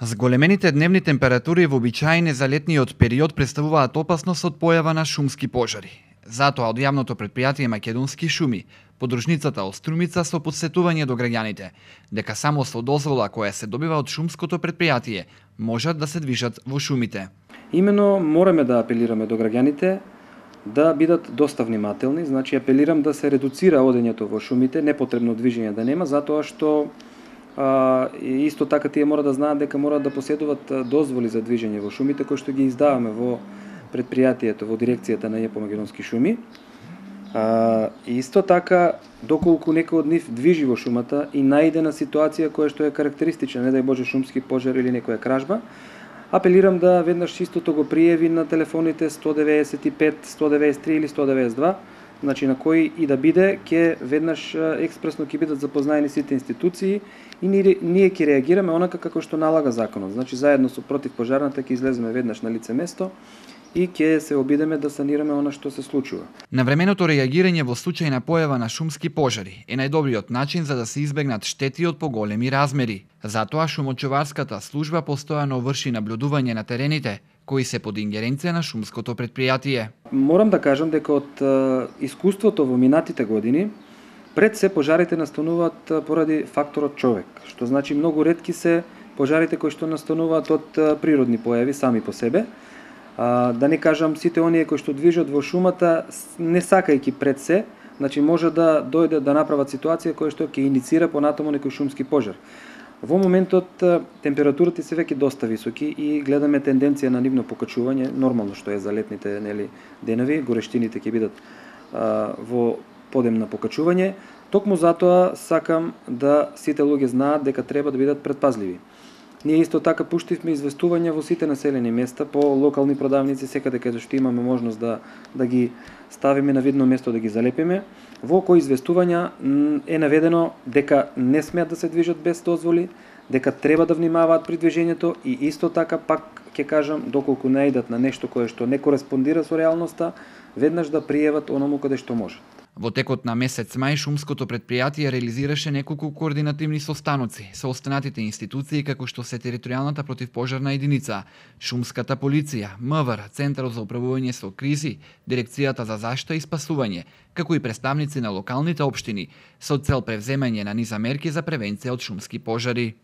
Зголемените дневни температури во обичаен за летниот период представуваат опасност од појава на шумски пожари. Затоа од јавното претпријатие Македонски шуми, подружницата Острумица со подсетување до граѓаните дека само со дозвола која се добива од шумското претпријатие можат да се движат во шумите. Имено мораме да апелираме до граѓаните да бидат доста внимателни, значи апелирам да се редуцира одењето во шумите, непотребно движење да нема, затоа што исто така тие мора да знаат дека мора да поседуваат дозволи за движење во шумите кои што ги издаваме во предпријатието, во дирекцијата на ЕПО Македонски шуми. Исто така, доколку некој од нив движи во шумата и најде на ситуација која што е карактеристична, не дај Боже шумски пожар или некоја кражба, апелирам да веднаш истото го пријави на телефоните 195, 193 или 192, значи на кој и да биде, ќе веднаш експресно ќе бидат запознаени сите институции и ние ќе реагираме онака како што налага законот. Значи заедно со противпожарната ќе излеземе веднаш на лице место и ќе се обидеме да санираме она што се случува. Навременото реагирање во случај на појава на шумски пожари е најдобриот начин за да се избегнат штети од поголеми размери. Затоа шумочуварската служба постојано врши наблюдување на терените кои се под ингеренција на шумското претпријатие. Морам да кажам дека од искуството во минатите години пред се пожарите настануваат поради факторот човек, што значи многу ретки се пожарите кои што настануваат од природни појави сами по себе. Да не кажам сите оние кои што движат во шумата не сакајќи пред се, значи може да дојде да направат ситуација која што ќе иницира понатаму некој шумски пожар. Во моментот температурите се веќе доста високи и гледаме тенденција на нивно покачување, нормално што е за летните денови, горештините ќе бидат во подем на покачување. Токму затоа сакам да сите луѓе знаат дека треба да бидат предпазливи. Ние исто така пуштивме известувања во сите населени места по локални продавници, секаде каде што имаме можност да ги ставиме на видно место, да ги залепиме, во кои известувања е наведено дека не смеат да се движат без дозволи, дека треба да внимаваат при движењето и исто така пак ќе кажам, доколку најдат на нешто кое што не кореспондира со реалноста, веднаш да пријават оному каде што можат. Во текот на месец мај шумското претпријатие реализираше неколку координативни состаноци со останатите институции како што се територијалната противпожарна единица, шумската полиција, МВР, Центарот за управување со кризи, Дирекцијата за заштита и спасување, како и представници на локалните општини со цел превземање на низа мерки за превенција од шумски пожари.